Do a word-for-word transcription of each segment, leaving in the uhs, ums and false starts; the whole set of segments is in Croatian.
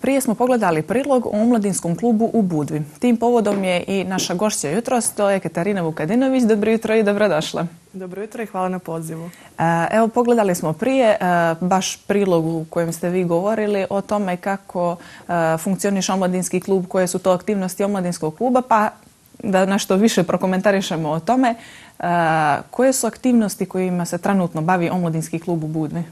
Prije smo pogledali prilog o omladinskom klubu u Budvi. Tim povodom je i naša gošća jutros, to je Katarina Vukadinović. Dobro jutro i dobrodošla. Dobro jutro i hvala na pozivu. Evo, pogledali smo prije baš prilog u kojem ste vi govorili o tome kako funkcioniše omladinski klub, koje su to aktivnosti omladinskog kluba, pa da nešto više prokomentarišemo o tome. Koje su aktivnosti kojima se trenutno bavi omladinski klub u Budvi?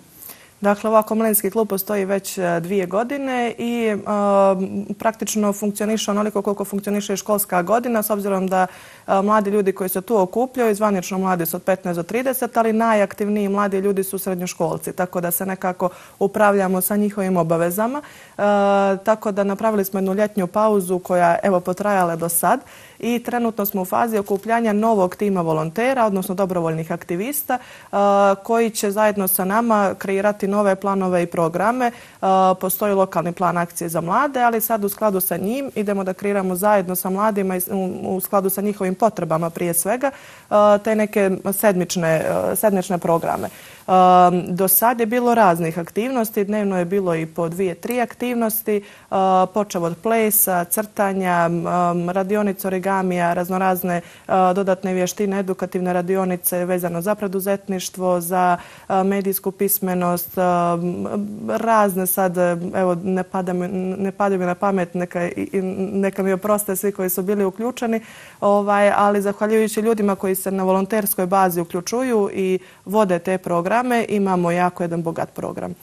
Dakle, ovako omladinski klub postoji već dvije godine i uh, praktično funkcioniše onoliko koliko funkcioniše i školska godina, s obzirom da uh, mladi ljudi koji se tu okupljaju, zvanično mladi su od petnaest do trideset, ali najaktivniji mladi ljudi su srednjoškolci, tako da se nekako upravljamo sa njihovim obavezama. Uh, tako da napravili smo jednu ljetnju pauzu koja evo potrajala do sad i trenutno smo u fazi okupljanja novog tima volontera, odnosno dobrovoljnih aktivista uh, koji će zajedno sa nama kreirati nove planove i programe. Postoji lokalni plan akcije za mlade, ali sad u skladu sa njim idemo da kreiramo zajedno sa mladima i u skladu sa njihovim potrebama prije svega te neke sedmične, sedmične programe. Do sad je bilo raznih aktivnosti, dnevno je bilo i po dvije, tri aktivnosti, počev od plesa, crtanja, radionice origamija, raznorazne dodatne vještine, edukativne radionice vezano za preduzetništvo, za medijsku pismenost, razne sad, evo ne pada mi, ne pada mi na pamet, neka, neka mi oproste svi koji su bili uključeni, ovaj, ali zahvaljujući ljudima koji se na volonterskoj bazi uključuju i vode te programe, imamo jako jedan bogat program.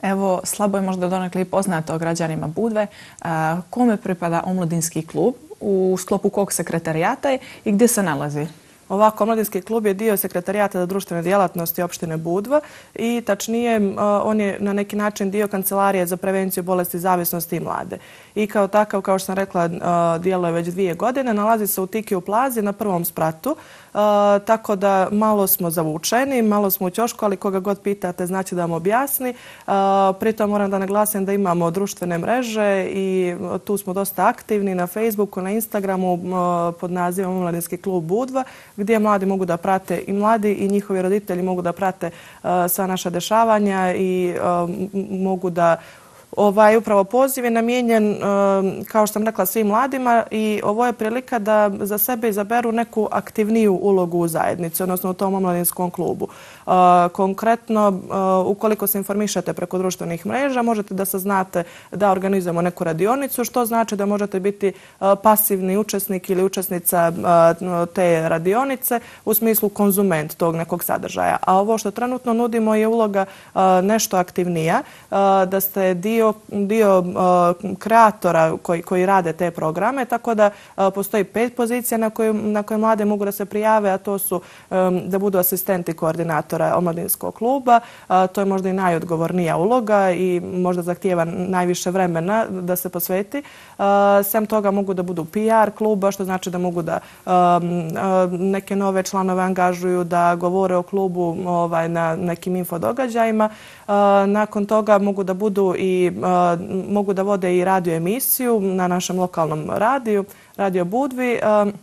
Evo, slabo je možda donekle i poznato građanima Budve. A, kome pripada omladinski klub, u sklopu kog sekretarijata i gdje se nalazi? Ovako, omladinski klub je dio sekretarijata za društvene djelatnosti opštine Budva i tačnije on je na neki način dio kancelarije za prevenciju bolesti zavisnosti i mlade. I kao takav, kao što sam rekla, djeluje već dvije godine, nalazi se u Tikiju plazi na prvom spratu, tako da malo smo zavučeni, malo smo u ćošku, ali koga god pitate znači da vam objasni. Pritom moram da naglasim da imamo društvene mreže i tu smo dosta aktivni na Facebooku, na Instagramu pod nazivom Omladinski klub Budva, gdje mladi mogu da prate i mladi i njihovi roditelji mogu da prate uh, sva naša dešavanja i uh, mogu da Ovaj upravo poziv je namijenjen, kao što sam rekla, svim mladima i ovo je prilika da za sebe izaberu neku aktivniju ulogu u zajednici, odnosno u tom omladinskom klubu. Konkretno, ukoliko se informišete preko društvenih mreža, možete da saznate da organizujemo neku radionicu, što znači da možete biti pasivni učesnik ili učesnica te radionice u smislu konzument tog nekog sadržaja. A ovo što trenutno nudimo je uloga nešto aktivnija, da ste dio dio uh, kreatora koji, koji rade te programe, tako da uh, postoji pet pozicija na koje, na koje mlade mogu da se prijave, a to su um, da budu asistenti koordinatora omladinskog kluba. Uh, to je možda i najodgovornija uloga i možda zahtijeva najviše vremena da se posveti. Uh, sem toga mogu da budu P R kluba, što znači da mogu da um, uh, neke nove članove angažuju da govore o klubu ovaj, na nekim infodogađajima. Uh, nakon toga mogu da budu i Uh, mogu da vode i radio emisiju na našem lokalnom radiju, Radio Budvi. Uh,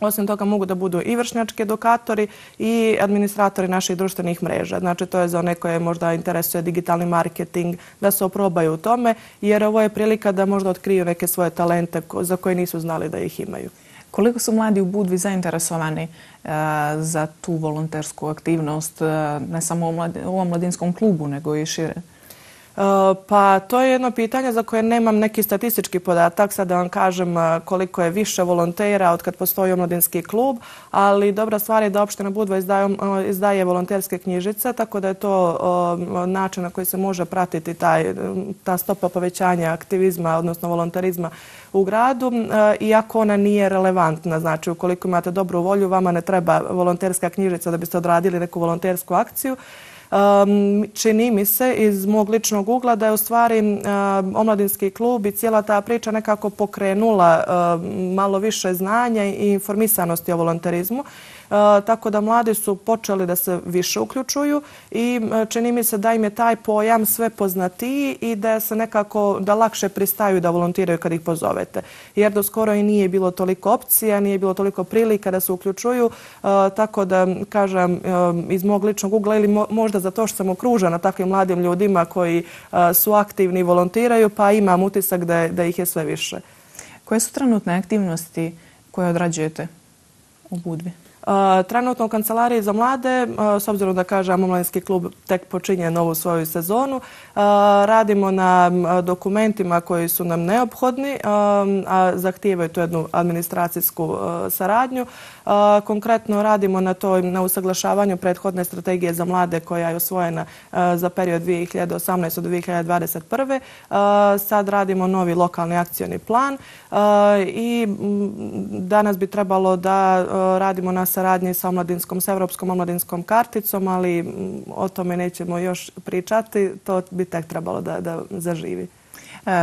osim toga mogu da budu i vršnjački edukatori i administratori naših društvenih mreža. Znači to je za one koje možda interesuje digitalni marketing, da se oprobaju u tome, jer ovo je prilika da možda otkriju neke svoje talente za koje nisu znali da ih imaju. Koliko su mladi u Budvi zainteresovani uh, za tu volontersku aktivnost, uh, ne samo u, mladi, u omladinskom klubu, nego i šire? Pa to je jedno pitanje za koje nemam neki statistički podatak, sad da vam kažem koliko je više volontera od kad postoji omladinski klub, ali dobra stvar je da opština Budva izdaje, izdaje volonterske knjižice, tako da je to način na koji se može pratiti taj, ta stopa povećanja aktivizma, odnosno volonterizma u gradu, iako ona nije relevantna. Znači, ukoliko imate dobru volju, vama ne treba volonterska knjižica da biste odradili neku volontersku akciju. Um, čini mi se iz mog ličnog ugla da je u stvari um, omladinski klub i cijela ta priča nekako pokrenula um, malo više znanja i informisanosti o volonterizmu. tako da mladi su počeli da se više uključuju i čini mi se da im je taj pojam sve poznatiji i da se nekako, da lakše pristaju da volontiraju kad ih pozovete. Jer do skoro i nije bilo toliko opcija, nije bilo toliko prilika da se uključuju, tako da, kažem, iz mog ličnog ugla ili možda zato što sam okružena takvim mladim ljudima koji su aktivni i volontiraju, pa imam utisak da, da ih je sve više. Koje su trenutne aktivnosti koje odrađujete u Budvi? Trenutno u Kancelariji za mlade, s obzirom da kažem omladinski klub tek počinje novu svoju sezonu, radimo na dokumentima koji su nam neophodni, a zahtijevaju tu jednu administracijsku saradnju. Konkretno radimo na toj, na usaglašavanju prethodne strategije za mlade koja je usvojena za period dvije hiljade osamnaeste do dvije hiljade dvadeset prve. Sad radimo novi lokalni akcioni plan i danas bi trebalo da radimo na saradnji sa omladinskom, sa Evropskom omladinskom karticom, ali o tome nećemo još pričati, to bi tek trebalo da, da zaživi.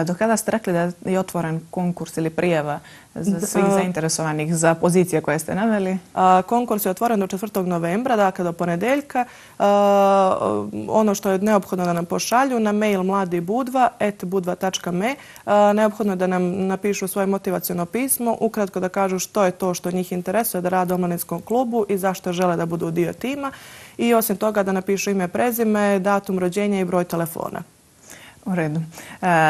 Do kada ste rekli da je otvoren konkurs ili prijava za svih zainteresovanih za pozicije koje ste naveli? Konkurs je otvoren do četvrtog novembra, dakle do ponedeljka. Ono što je neophodno da nam pošalju na mail mladibudva et budva tačka me. Neophodno je da nam napišu svoje motivaciono pismo, ukratko da kažu što je to što njih interesuje da rade u omladinskom klubu i zašto žele da budu dio tima. I osim toga da napišu ime, prezime, datum rođenja i broj telefona. U redu.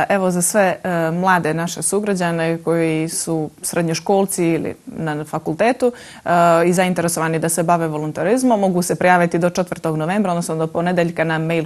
Evo za sve mlade naše sugrađane koji su srednjoškolci ili na fakultetu i zainteresovani da se bave volontarizmom, mogu se prijaviti do četvrtog novembra, odnosno do ponedeljka na mail